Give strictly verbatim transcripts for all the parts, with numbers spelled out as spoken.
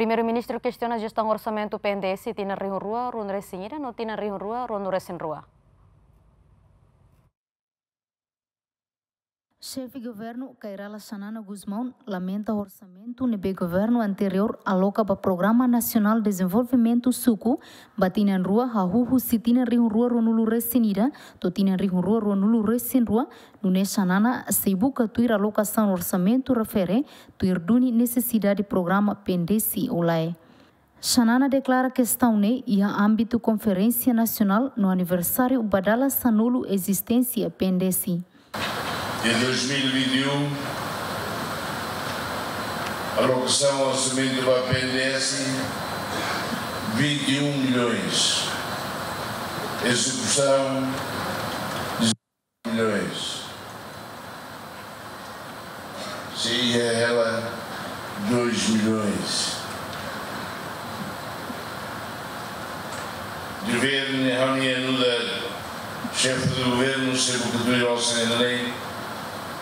Primeiru-Ministru kestiona jestaun orsamentu P N D S tinan rihun rua ruanulu-resin-ida no tinan rihun rua ruanulu-resin-rua. Xefe Governu, Kay Rala Xanana Gusmão, lamenta orsamentu ne'ebé governu anteriór aloka ba Programa Nasionál Dezenvolvimentu Suku ba tinan rua hahú husi tinan rihun rua ruanulu-resin-ida to'o tinan rihun rua ruanulu-resin-rua, nune'e Xanana sei buka tuir alokasaun orsamentu refere tuir duni nesesidade programa P N D S ou lae. Xanana deklara kestaun ne'e iha ámbitu konferénsia nasionál no aniversáriu ba dala sanulu ezisténsia P N D S. De dois mil e vinte e um, alokasaun orsamentu ba P N D S, vinte e um milhões. Ezekusaun, milhões. Sei iha hela dois milhões. Governu, ha'u-nia nu'udar xefe do governu, sei buka tuir osan ida-ne'e,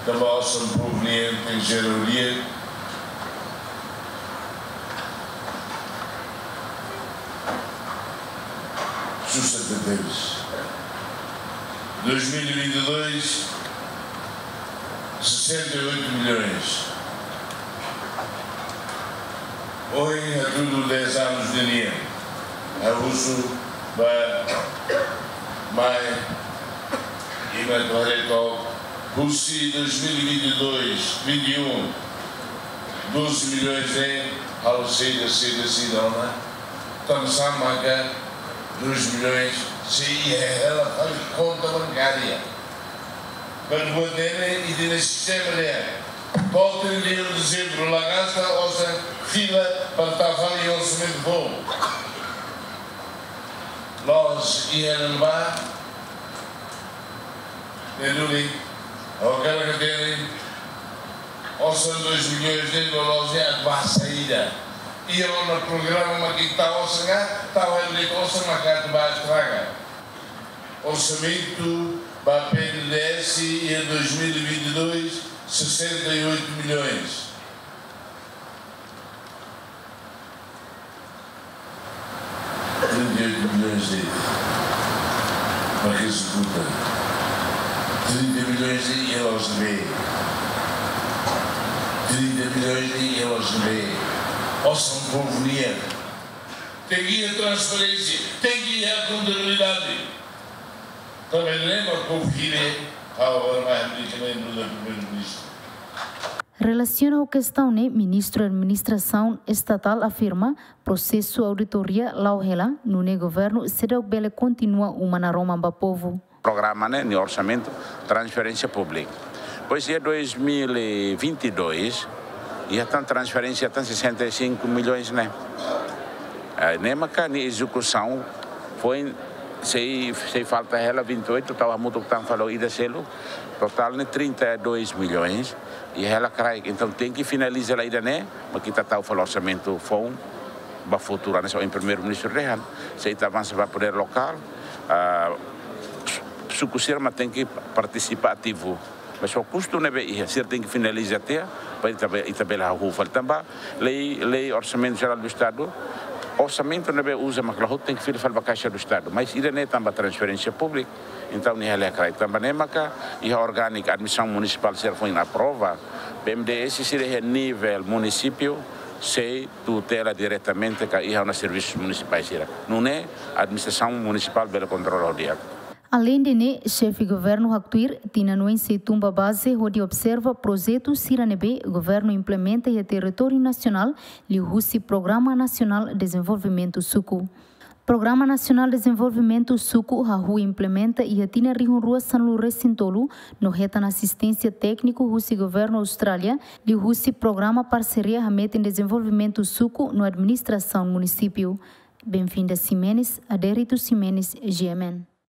tanba osan povu nian tenke ser odia. Susar tebes. Dois mil e vinte e dois, sessenta e oito milhões. Ohin hatudu dez anos de nia. Ha'u husu ba mai, ema atu haree took, husi dois mil e vinte e dois, vinte e um, doze milhões ne'e halo saida, saida, saida ona. Tanba sá maka dois milhões sei iha hela fali konta bankária. Para buat ne'e, ita-nia sistema ne'e. To'o trinta e um de dezembro la gasta, osan fila para tau fali orsamentu foun. Loos iha ne'ebá, ne'e duni, ha'u hakarak hatene, osan dois milhões ne'e loloos ne'e atu bá saida. Iha ona programa mak ita osan ka, tau hela de'it osan mak atu bá estraga. Orsamentu ba P N D S iha dois mil e vinte e dois, sessenta e oito milhões. Trinta e oito milhões de, para que executa. Trinta milhões de euros de B. Trinta milhões de euros de B. Osan povu nian. Tenke iha transparénsia, tenke iha kontabilidade. Tanba ne'e mak povu hili ha'u agora mai habilita nu'udar Primeiru-Ministru. Relasiona ho kestaun ne'e, Ministru Administrasaun Estatál afirma prosesu auditoria la'o hela, nune'e governu seidauk bele kontinua uma naroman ba povu. Programa ne'e, nia orsamentu, transferénsia públika. Depois, iha dois mil e vinte e dois, iha tan transferénsia tan sessenta e cinco milhões ne'e. Eh, ne'e maka nia ezekusaun foin, sei, sei falta hela vinte e oito, tau hamutuk tan fali ho ida seluk, totál ne'e trinta e dois milhões, iha hela kraik. Entaun, tenke finaliza hela ida-ne'e, mak ita tau fali orsamentu foun ba futuru, hanesan ohin Primeiru-Ministru dehan, se ita avansa ba podér lokál, ah, suku sira mak tenke partisipa ativu. Mas ho kustu ne'ebé iha, sira tenke finaliza tiha, para ita be-, ita bele hahú fali. Tanba lei, lei Orsamentu Jerál do Estadu, orsamentu ne'ebé uza mak la hotu tenke fila fali ba Kaixa do Estadu. Mas ida-ne'e tanba transferénsia públika, entaun nia hela kraik. Tanba ne'e maka iha orgániku, admisaun munisipál sira foin aprova, P M D S sira iha nivel munisípiu sei tutela diretamente ka iha ona servisus munisipais sira. Nune'e administrasaun munisipál bele kontrola ho di'ak. Aleinde ne'e, Xefe Governu haktuir, tinan oin sei tun ba baze hodi observa projetu sira ne'ebé governu implementa iha territóriu nasionál, liuhusi Programa Nasionál Dezenvolvimentu Suku. Programa Nasionál Dezenvolvimentu Suku hahú implementa iha tinan rihun rua sanulu-resin-tolu, no hetan asisténsia tékniku husi governu Austrália, liuhusi programa parseria hametin dezenvolvimentu suku no administrasaun munisípiu. Benvinda Ximenes, Adérito Ximenes, G M N.